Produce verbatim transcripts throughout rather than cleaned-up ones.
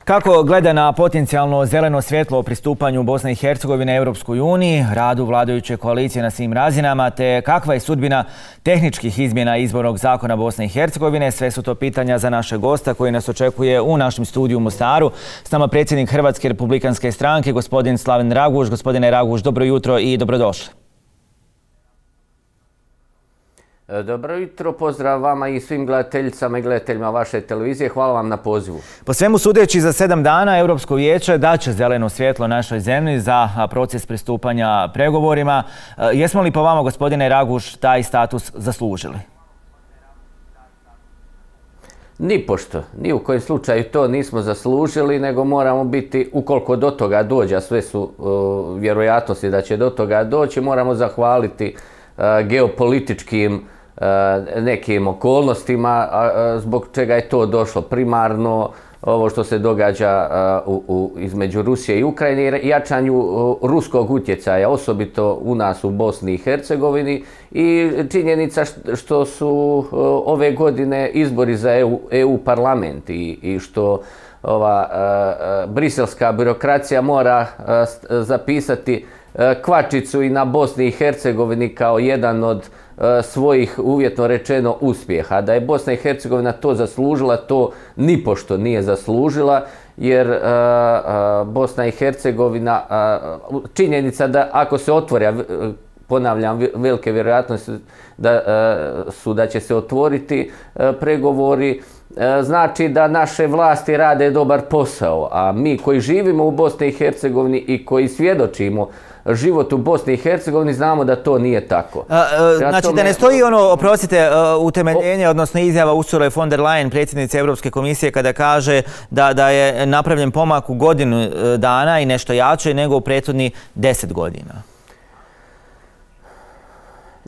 Kako gleda na potencijalno zeleno svjetlo o pristupanju Bosne i Hercegovine Europskoj uniji, radu vladajuće koalicije na svim razinama, te kakva je sudbina tehničkih izmjena izbornog zakona Bosne i Hercegovine, sve su to pitanja za našeg gosta koji nas očekuje u našem studiju u Mostaru. S nama predsjednik Hrvatske republikanske stranke, gospodin Slaven Raguž. Gospodine Raguž, dobro jutro i dobrodošli. Dobro jutro, pozdrav vama i svim gledateljicama i gledateljima vaše televizije. Hvala vam na pozivu. Po svemu sudeći, za sedam dana Europsko vijeće daće zeleno svjetlo našoj zemlji za proces pristupanja pregovorima. Jesmo li po vama, gospodine Raguž, taj status zaslužili? Nipošto, ni u kojem slučaju to nismo zaslužili, nego moramo biti, ukoliko do toga dođe, a sve su uh, vjerojatnosti da će do toga doći, moramo zahvaliti uh, geopolitičkim nekim okolnostima zbog čega je to došlo. Primarno ovo što se događa u, u, između Rusije i Ukrajine i jačanju ruskog utjecaja, osobito u nas u Bosni i Hercegovini, i činjenica što su ove godine izbori za EU, EU parlament i, i što ova uh, briselska birokracija mora uh, zapisati uh, kvačicu i na Bosni i Hercegovini kao jedan od uh, svojih, uvjetno rečeno, uspjeha. Da je Bosna i Hercegovina to zaslužila, to nipošto nije zaslužila, jer uh, uh, Bosna i Hercegovina, uh, činjenica da ako se otvori, uh, ponavljam, velike vjerojatnosti da uh, su da će se otvoriti uh, pregovori, znači da naše vlasti rade dobar posao, a mi koji živimo u Bosni i Hercegovini i koji svjedočimo život u Bosni i Hercegovini znamo da to nije tako. A, a, znači da ne stoji ono, oprostite, utemeljenje, odnosno izjava Ursule von der Leyen, predsjednice Europske komisije, kada kaže da, da je napravljen pomak u godinu dana i nešto jače nego u prethodni deset godina.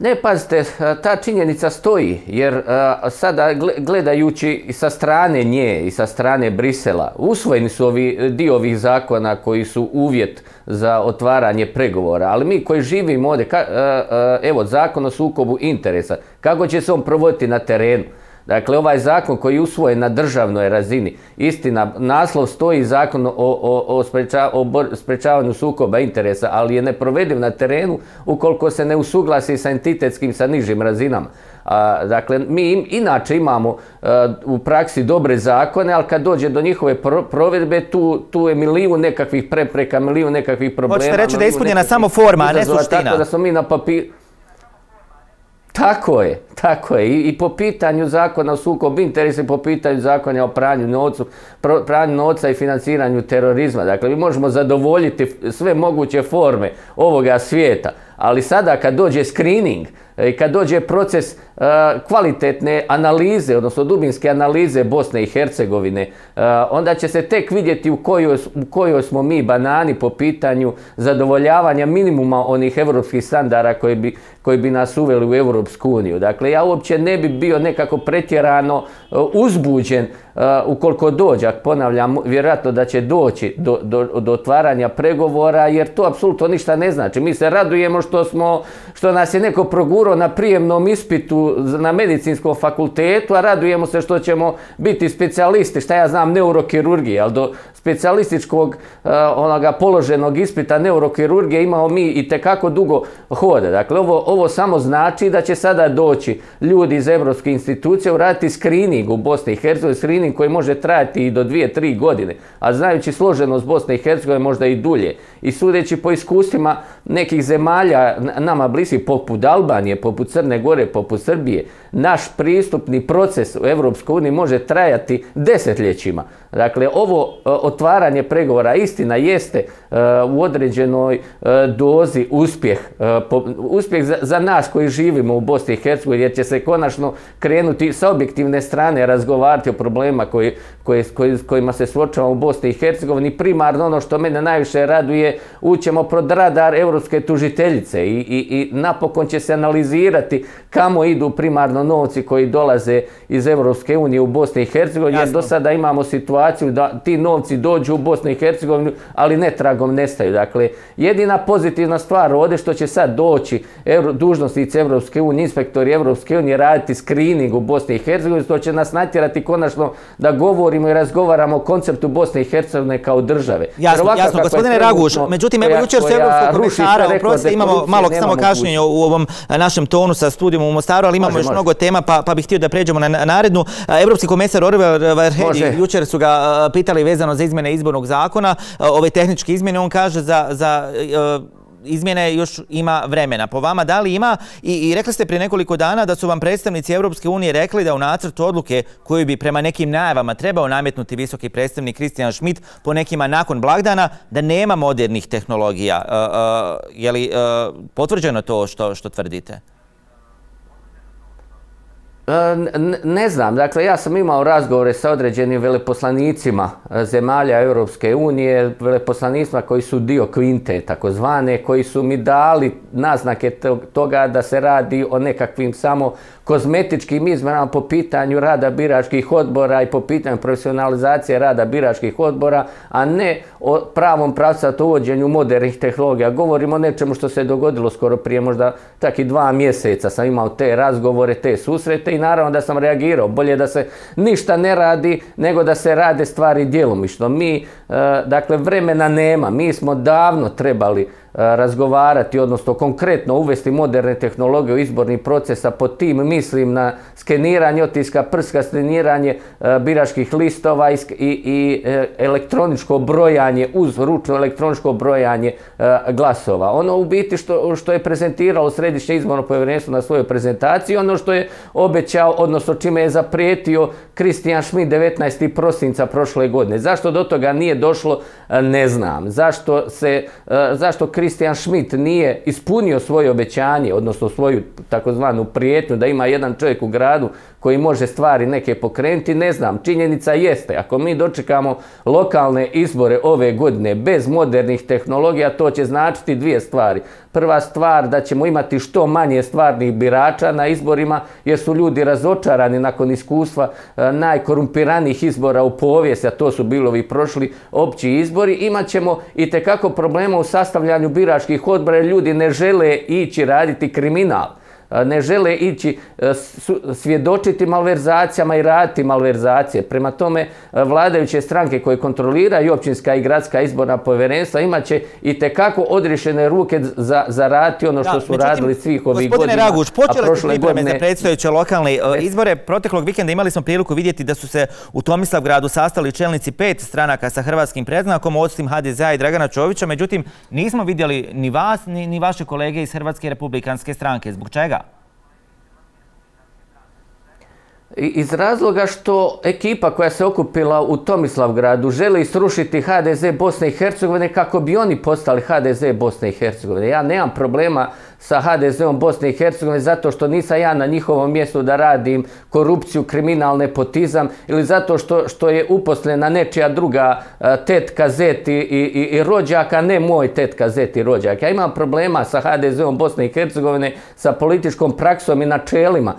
Ne, pazite, ta činjenica stoji, jer sada gledajući sa strane nje i sa strane Brisela, usvojeni su ovi dio ovih zakona koji su uvjet za otvaranje pregovora, ali mi koji živimo ovdje, evo, zakon o sukobu interesa, kako će se on provoditi na terenu? Dakle, ovaj zakon koji je usvojen na državnoj razini, istina, naslov stoji zakon o, o, o, spreča, o sprečavanju sukoba interesa, ali je neprovediv na terenu ukoliko se ne usuglasi sa entitetskim, sa nižim razinama. A, dakle, mi im, inače imamo a, u praksi dobre zakone, ali kad dođe do njihove pro, provedbe, tu, tu je milijun nekakvih prepreka, milijun nekakvih problema. Hoćete reći da je ispunjena samo forma, a ne suština? Tako da smo mi na papiru... Tako je, tako je. I, i po pitanju zakona o sukobu interesa i po pitanju zakona o pranju novca, pranju novca i financiranju terorizma. Dakle, mi možemo zadovoljiti sve moguće forme ovoga svijeta, ali sada kad dođe screening i kad dođe proces uh, kvalitetne analize, odnosno dubinske analize Bosne i Hercegovine, uh, onda će se tek vidjeti u kojoj, u kojoj smo mi banani po pitanju zadovoljavanja minimuma onih evropskih standarda koji bi, koji bi nas uveli u Europsku uniju. Dakle, ja uopće ne bi bio nekako pretjerano uh, uzbuđen uh, ukoliko dođe, ponavljam, vjerojatno da će doći do, do, do otvaranja pregovora, jer to apsolutno ništa ne znači. Mi se radujemo što, smo, što nas je neko progurao na prijemnom ispitu na medicinskom fakultetu, a radujemo se što ćemo biti specijalisti, šta ja znam, neurokirurgije, ali do specijalističkog uh, onoga položenog ispita neurokirurgije imamo mi i tekako dugo hoda. Dakle, ovo, ovo samo znači da će sada doći ljudi iz evropske institucije uraditi screening u Bosni i Hercegovini, screening koji može trajati i do dvije, tri godine, a znajući složenost Bosne i Hercegovine možda i dulje. I sudeći po iskustvima nekih zemalja nama bliskih, poput Albanije, poput Crne Gore, poput Srbije, naš pristupni proces u Europskoj uniji može trajati desetljećima. Dakle, ovo otvaranje pregovora istina jeste uh, u određenoj uh, dozi uspjeh. Uh, uspjeh za, za nas koji živimo u Bosni i Hercegovini, jer će se konačno krenuti sa objektivne strane razgovarati o problema koji, koji, koji, s kojima se suočavamo u Bosni i Hercegovini. Primarno ono što mene najviše raduje, ućemo pod radar europske tužiteljice i, i, i napokon će se analizirati kamo idu primarno novci koji dolaze iz Europske unije u Bosni i Hercegovini, jer do sada imamo situaciju situaciju da ti novci dođu u Bosnu i Hercegovinu, ali netragom nestaju. Dakle, jedina pozitivna stvar ovdje što će sad doći dužnosnici Evropske unije, inspektori Evropske unije raditi screening u Bosni i Hercegovini, to će nas natjerati konačno da govorimo i razgovaramo o konceptu Bosne i Hercegovine kao države. Jasno, jasno, gospodine Raguš, međutim, evo jučer su Evropskog komisara, oprostite, imamo malo samo kašnjenje u ovom našem tonu sa studijom u Mostaru, ali imamo još mnogo tema, pa bih htio da pređemo na narednu. Evropski komesar Oliver Varhelyi, jučer su ga pitali vezano za izmjene izbornog zakona, ove tehničke izmjene, on kaže za izmjene još ima vremena. Po vama, da li ima? I rekli ste prije nekoliko dana da su vam predstavnici Europske unije rekli da u nacrtu odluke koju bi prema nekim najavama trebao nametnuti visoki predstavnik Christian Schmidt, po nekima nakon blagdana, da nema modernih tehnologija. Je li potvrđeno to što tvrdite? Ne znam, dakle ja sam imao razgovore sa određenim veleposlanicima zemalja Europske unije, veleposlanicima koji su dio kvinte takozvane, koji su mi dali naznake toga da se radi o nekakvim samo kozmetičkim izmenama po pitanju rada biračkih odbora i po pitanju profesionalizacije rada biračkih odbora, a ne o pravom pravcatom uvođenju modernih tehnologija. Govorimo o nečemu što se dogodilo skoro prije možda čak i dva mjeseca sam imao te razgovore, te susrete i naravno da sam reagirao. Bolje da se ništa ne radi nego da se rade stvari djelomično. Mi, dakle, vremena nema. Mi smo davno trebali razgovarati, odnosno konkretno uvesti moderne tehnologije u izborni proces, a pod tim mislim na skeniranje otiska prska, skeniranje biračkih listova i elektroničko brojanje uz ručno elektroničko brojanje glasova. Ono u biti što je prezentiralo Središnje izborno povjerenstvo na svojoj prezentaciji, ono što je obećao, odnosno čime je zaprijetio Christian Schmidt devetnaestog prosinca prošle godine. Zašto do toga nije došlo, ne znam. Zašto se, zašto Christian Schmidt nije ispunio svoje obećanje, odnosno svoju takozvanu prijetnju da ima jedan čovjek u gradu koji može stvari neke pokrenuti, ne znam. Činjenica jeste, ako mi dočekamo lokalne izbore ove godine bez modernih tehnologija, to će značiti dvije stvari. Prva stvar, da ćemo imati što manje stvarnih birača na izborima, jer su ljudi razočarani nakon iskustva najkorumpiranijih izbora u povijesti, a to su bili ovi prošli opći izbori. Imaćemo i tekako problema u sastavljanju biračkih odbora, jer ljudi ne žele ići raditi kriminal. Ne žele ići svjedočiti malverzacijama i raditi malverzacije. Prema tome, vladajuće stranke koje kontroliraju općinska i gradska izborna povjerenstva imat će i tekako odriješene ruke za raditi ono što su radili svih ovih godina. Gospodine Raguš, počele su pripreme za predstojeće lokalne izbore. Proteklog vikenda imali smo priliku vidjeti da su se u Tomislavgradu sastali čelnici pet stranaka sa hrvatskim predznakom, osim ha de zea i Dragana Čovića. Međutim, nismo vidjeli ni vas, ni vaše kolege iz Hrvatske republikanske stranke. Zbog čega? Iz razloga što ekipa koja se okupila u Tomislavgradu želi srušiti ha de ze Bosne i Hercegovine kako bi oni postali ha de ze Bosne i Hercegovine. Ja nemam problema sa ha de zeom Bosne i Hercegovine zato što nisam ja na njihovom mjestu da radim korupciju, kriminal, nepotizam ili zato što, što je uposlena nečija druga tetka, zet i, i, i rođak, a ne moj tetka, zet i rođak. Ja imam problema sa ha de zeom Bosne i Hercegovine, sa političkom praksom i načelima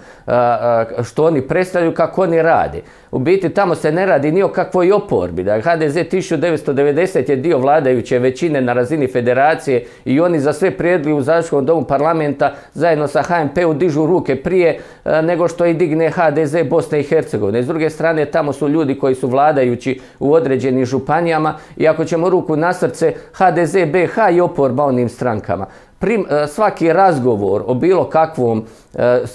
što oni predstavljaju, kako oni rade. U biti tamo se ne radi ni o kakvoj oporbi. Da ha de ze tisuću devetsto devedesete je dio vladajuće većine na razini federacije i oni za sve prijedloge u Zajedničkom domu parlamenta zajedno sa ha em pe u dižu ruke prije nego što i digne ha de ze Bosne i Hercegovine. S druge strane, tamo su ljudi koji su vladajući u određenim županijama i ako ćemo ruku na srce, ha de ze be ha i oporba onim strankama. Prim, svaki razgovor o bilo kakvom,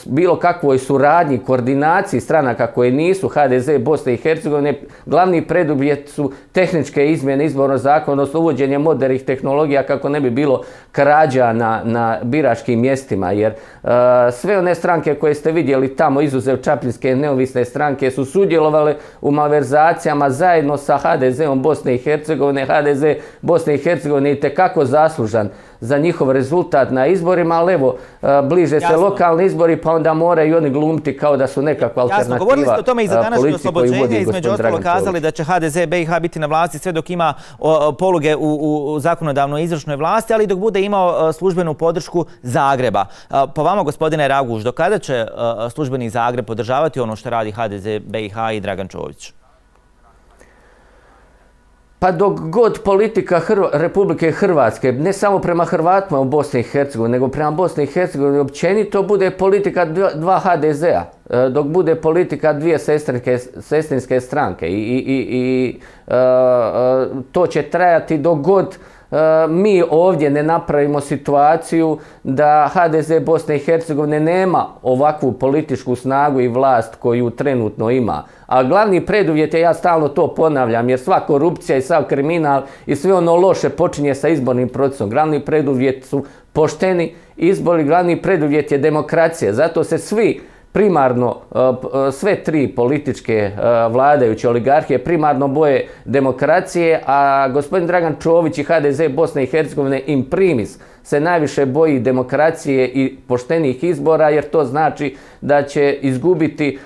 bilo kakvoj suradnji, koordinaciji stranaka koje nisu ha de ze Bosne i Hercegovine, glavni preduvjet su tehničke izmjene izbornog zakona, odnosno uvođenje modernih tehnologija kako ne bi bilo krađa na, na biračkim mjestima, jer uh, sve one stranke koje ste vidjeli tamo, izuzev Čapljinske neovisne stranke, su sudjelovale u malverzacijama zajedno sa ha de zeom Bosne i Hercegovine. ha de ze Bosne i Hercegovine je itekako zaslužan za njihov rezultat na izborima, ali evo, bliže se lokalni izbori, pa onda moraju i oni glumiti kao da su nekakva alternativa. Jasno, govorili ste o tome i za današnje oslobođenje, između ostalo kazali da će ha de ze be i ha biti na vlasti sve dok ima poluge u, u zakonodavnoj izvršnoj vlasti, ali dok bude imao službenu podršku Zagreba. Po vama, gospodine Raguš, do kada će službeni Zagreb podržavati ono što radi ha de ze be i ha i Dragan Čović? Pa dok god politika Republike Hrvatske, ne samo prema Hrvatima u Bosni i Hercegovini, nego prema Bosni i Hercegovini općenito, bude politika dva ha de zea, dok bude politika dvije sestrinske stranke. I to će trajati dok god mi ovdje ne napravimo situaciju da ha de ze Bosne i Hercegovine nema ovakvu političku snagu i vlast koju trenutno ima. A glavni preduvjet je, ja stalno to ponavljam, jer sva korupcija i sav kriminal i sve ono loše počinje sa izbornim procesom. Glavni preduvjet su pošteni izbori, glavni preduvjet je demokracija. Zato se svi primarno, sve tri političke vladajuće oligarhije primarno boje demokracije, a gospodin Dragan Čović i ha de ze Bosne i Hercegovine in primis se najviše boji demokracije i poštenih izbora, jer to znači da će izgubiti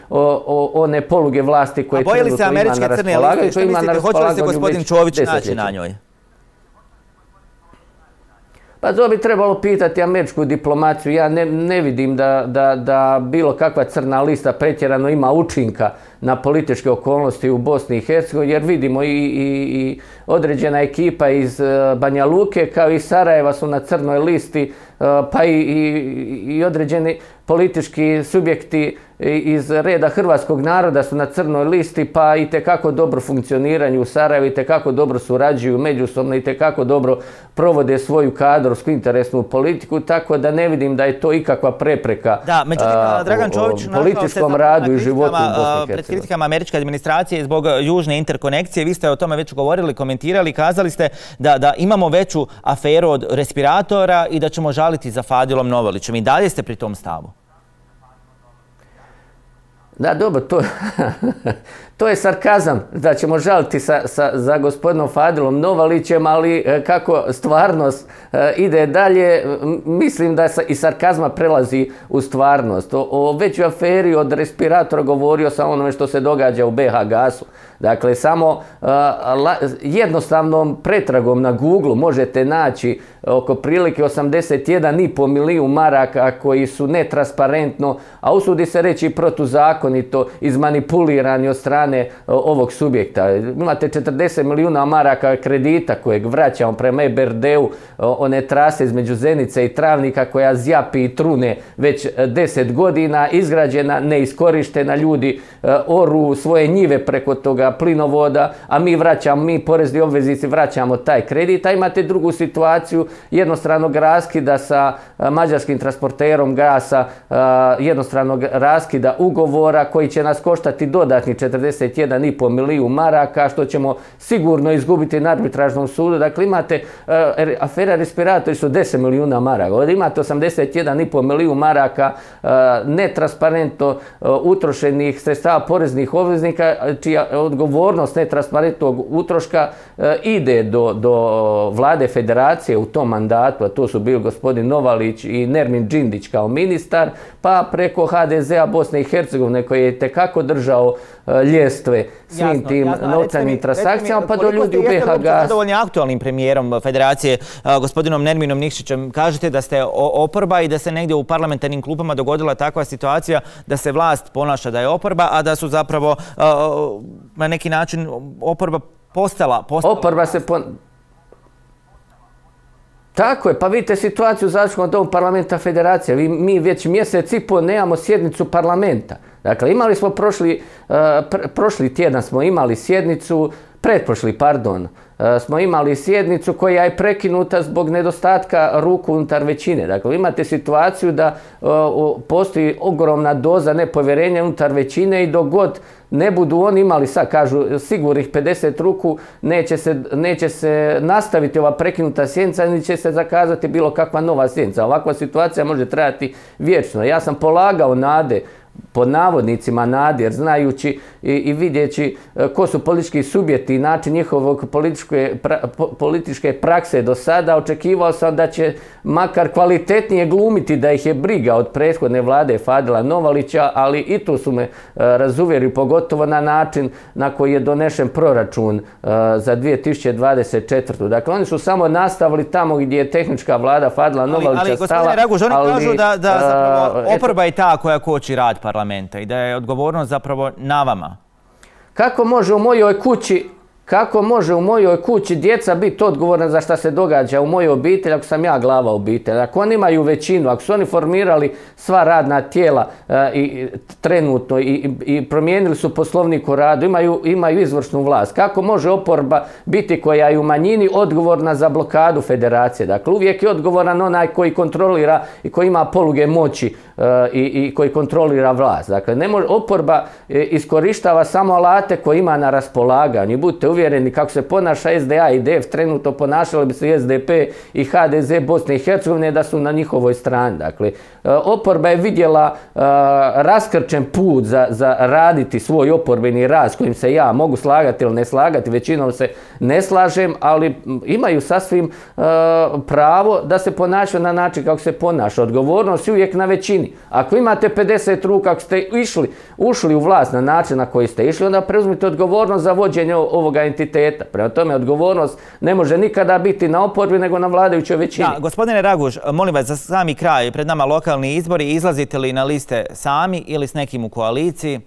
one poluge vlasti koje trenutno ima na raspolaganju. A boji li se američke crne liste? Što mislite, hoće li se gospodin Čović naći na njoj? Pa to bi trebalo pitati američku diplomaciju. Ja ne, ne vidim da, da, da bilo kakva crna lista pretjerano ima učinka na političke okolnosti u Bosni i Hercegovini, jer vidimo i, i, i određena ekipa iz Banja Luke kao i Sarajeva su na crnoj listi, pa i, i, i određeni politički subjekti iz reda hrvatskog naroda su na crnoj listi, pa i tekako dobro funkcioniraju u Sarajevu, i tekako dobro surađuju međusobno, i tekako dobro provode svoju kadrovsku interesnu politiku, tako da ne vidim da je to ikakva prepreka da, međutim, a, Dragan Čović, o, o političkom radu i životu u Bosni i Hercegovini. Pred kritikama američke administracije zbog južne interkonekcije, vi ste o tome već govorili, komentirali, kazali ste da, da imamo veću aferu od respiratora i da ćemo žaliti za Fadilom Novalićem. I dalje ste pri tom stavu? Da, dobro, to, to je sarkazam da ćemo žaliti sa, sa, za gospodinom Fadilom Novalićem, ali kako stvarnost ide dalje, mislim da i sarkazma prelazi u stvarnost. O, o većoj aferi od respiratora govorio sam onome što se događa u be ha gasu. Dakle, samo a, jednostavnom pretragom na Google možete naći oko prilike osamdeset jedan i po milijun maraka koji su netransparentno, a usudi se reći protuzakonito izmanipulirani od strane ovog subjekta. Imate četrdeset milijuna maraka kredita kojeg vraćamo prema e be er de-u, one trase između Zenice i Travnika koja zjapi i trune već deset godina, izgrađena, neiskorištena, ljudi oru svoje njive preko toga plinovoda, a mi vraćamo, mi porezni obveznici vraćamo taj kredit. A imate drugu situaciju jednostranog raskida sa mađarskim transporterom gasa, jednostranog raskida ugovora koji će nas koštati dodatni četrdeset jedan i po milijun maraka, što ćemo sigurno izgubiti na arbitražnom sudu. Dakle, imate afera respiratori su deset milijuna maraka. Ovdje imate osamdeset jedan i po milijun maraka netransparentno utrošenih sredstava poreznih obveznika, čija odgovornost netransparentnog utroška ide do, do vlade federacije u tom mandatu, a to su bili gospodin Novalić i Nermin Džindić kao ministar, pa preko ha de zea Bosne i Hercegovine koji je tekako držao ljestve svim jasno, tim jasno. novčanim transakcijama, pa do ljudi u be ha gasu. Jeste zadovoljni aktualnim premijerom federacije, gospodinom Nerminom Nikšićem? Kažete da ste oporba i da se negdje u parlamentarnim klupama dogodila takva situacija da se vlast ponaša da je oporba, a da su zapravo na neki način oporba postala... postala oporba se... Pon... Tako je, pa vidite situaciju u Zastupničkom domu parlamenta federacije. Mi već mjesec i po nemamo sjednicu parlamenta. Dakle, imali smo prošli, pr prošli tjedan smo imali sjednicu, pretprošli, pardon, smo imali sjednicu koja je prekinuta zbog nedostatka ruku unutar većine. Dakle, imate situaciju da uh, postoji ogromna doza nepovjerenja unutar većine i dok god ne budu oni imali, sad kažu, sigurnih pedeset ruku, neće se, neće se nastaviti ova prekinuta sjednica, ni će se zakazati bilo kakva nova sjednica. Ovakva situacija može trajati vječno. Ja sam polagao nade, pod navodnicima nade, jer znajući i, i vidjeći ko su politički subjekti i način njihovog političke, pra, po, političke prakse do sada, očekivao sam da će makar kvalitetnije glumiti da ih je briga od prethodne vlade Fadila Novalića, ali i tu su me uh, razuvjerili, pogotovo na način na koji je donešen proračun uh, za dvije tisuće dvadeset četvrtu. Dakle, oni su samo nastavili tamo gdje je tehnička vlada Fadila Novalića ali, ali, stala. Ali, Raguž, oni ali, kažu da, da zapravo uh, oporba je ta koja koči rad parlamenta i da je odgovornost zapravo na vama. Kako može u mojoj kući Kako može u mojoj kući djeca biti odgovorna za šta se događa u mojoj obitelji ako sam ja glava obitelji? Ako oni imaju većinu, ako su oni formirali sva radna tijela e, i, trenutno i, i promijenili su poslovnik o radu, imaju, imaju izvršnu vlast, kako može oporba biti koja je u manjini odgovorna za blokadu federacije? Dakle, uvijek je odgovoran onaj koji kontrolira i koji ima poluge moći e, i, i koji kontrolira vlast. Dakle, ne može, oporba e, iskorištava samo alate koje ima na raspolaganju. Budite uvjereni kako se ponaša S D A i D F trenutno, ponašali bi se i S D P i H D Z Bosne i Hercegovine da su na njihovoj strani. Dakle, oporba je vidjela uh, raskrčen put za, za raditi svoj oporbeni rad s kojim se ja mogu slagati ili ne slagati, većinom se ne slažem, ali imaju sasvim uh, pravo da se ponašaju na način kako se ponaša. Odgovornost je uvijek na većini. Ako imate pedeset ruka, ako ste išli, ušli u vlast na način na koji ste išli, onda preuzmite odgovornost za vođenje ovoga entiteta. Prema tome, odgovornost ne može nikada biti na oporbi nego na vladajućoj većini. Da, gospodine Raguž, molim vas za sami kraj, pred nama lokalni izbori, izlazite li na liste sami ili s nekim u koaliciji?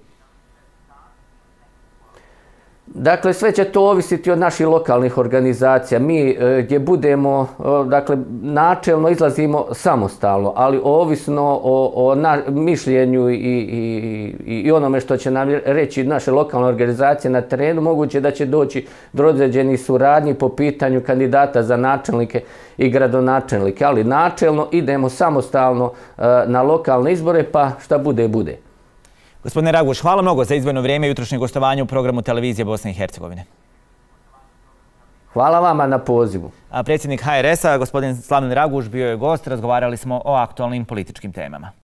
Dakle, sve će to ovisiti od naših lokalnih organizacija. Mi e, gdje budemo, e, dakle, načelno izlazimo samostalno, ali ovisno o, o na, mišljenju i, i, i onome što će nam reći naše lokalne organizacije na terenu, moguće da će doći do određenih suradnji po pitanju kandidata za načelnike i gradonačelnike, ali načelno idemo samostalno e, na lokalne izbore, pa šta bude, bude. Gospodine Raguž, hvala mnogo za izdvojeno vrijeme i jutrošnje gostovanje u programu Televizije Bosne i Hercegovine. Hvala vama na pozivu. A predsjednik H R S-a, gospodin Slaven Raguž, bio je gost, razgovarali smo o aktualnim političkim temama.